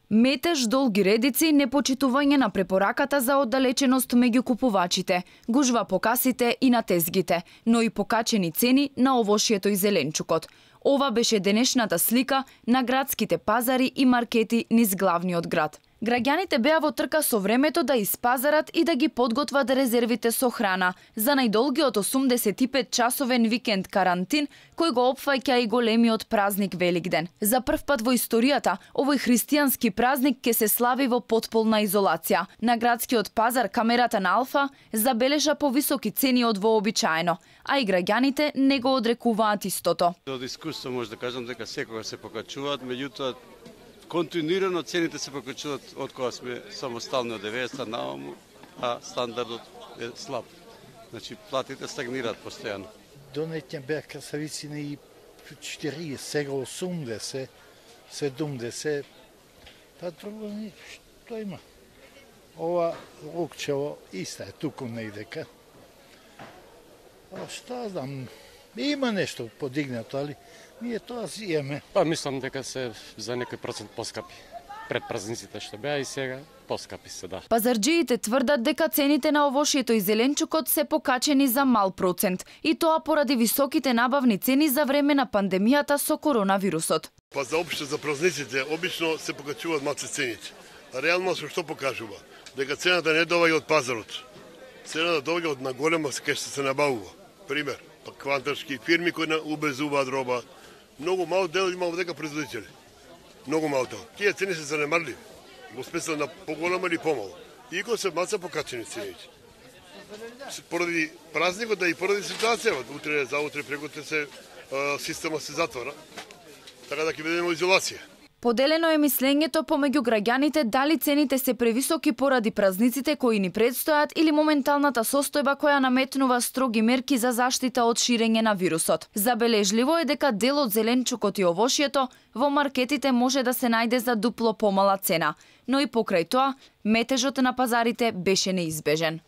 Метеж, долги редици, непочитување на препораката за оддалеченост меѓу купувачите, гужва по касите и на тезгите, но и покачени цени на овошјето и зеленчукот. Ова беше денешната слика на градските пазари и маркети низ главниот град. Граѓаните беа во трка со времето да испазарат и да ги подготват резервите со храна за најдолгиот 85-часовен викенд карантин кој го опфаќа и големиот празник Великден. За прв пат во историјата, овој христијански празник ќе се слави во потполна изолација. На градскиот пазар камерата на Алфа забележа повисоки цени од вообичаено, а и граѓаните не го одрекуваат истото. Од искуство може да кажам дека секогаш се покачуваат, меѓутоа континуирано цените се покачуваат од кога сме самостални од 90-та нааму, а стандардот е слаб. Значи платите стагнираат постојано. Донеќен беа красавици и 40, сега 80, 70. Па друго што има? Ова лукчево иста е туку нејдека. А што знам, има нешто подигнато, али ние тоа си имаме. Па мислам дека се за некој процент поскапи. Пред празниците што беа и сега поскапи се, да. Пазарџиите тврдат дека цените на овошјето и зеленчукот се покачени за мал процент, и тоа поради високите набавни цени за време на пандемијата со коронавирусот. Па за општо за празниците обично се покачуваат малце цените. А реално што покажува? Дека цената не доаѓа од пазарот. Цената доаѓа од наголема кај што се набавува. Пример, па квантарски фирми кои убезуваат роба. Многу мал дел има дека производители. Многу мал дел. Тие цени се занемарливи. Во смисла на поголема или помало. Иако се маца покачени цените. Поради празникот, да и поради ситуацијата, утре, заутре, прекутре се система се затвора. Така да ќе бидеме во изолација. Поделено е мислењето помеѓу граѓаните дали цените се превисоки поради празниците кои ни предстојат или моменталната состојба која наметнува строги мерки за заштита од ширење на вирусот. Забележливо е дека дел од зеленчукот и овошјето во маркетите може да се најде за дупло помала цена, но и покрај тоа метежот на пазарите беше неизбежен.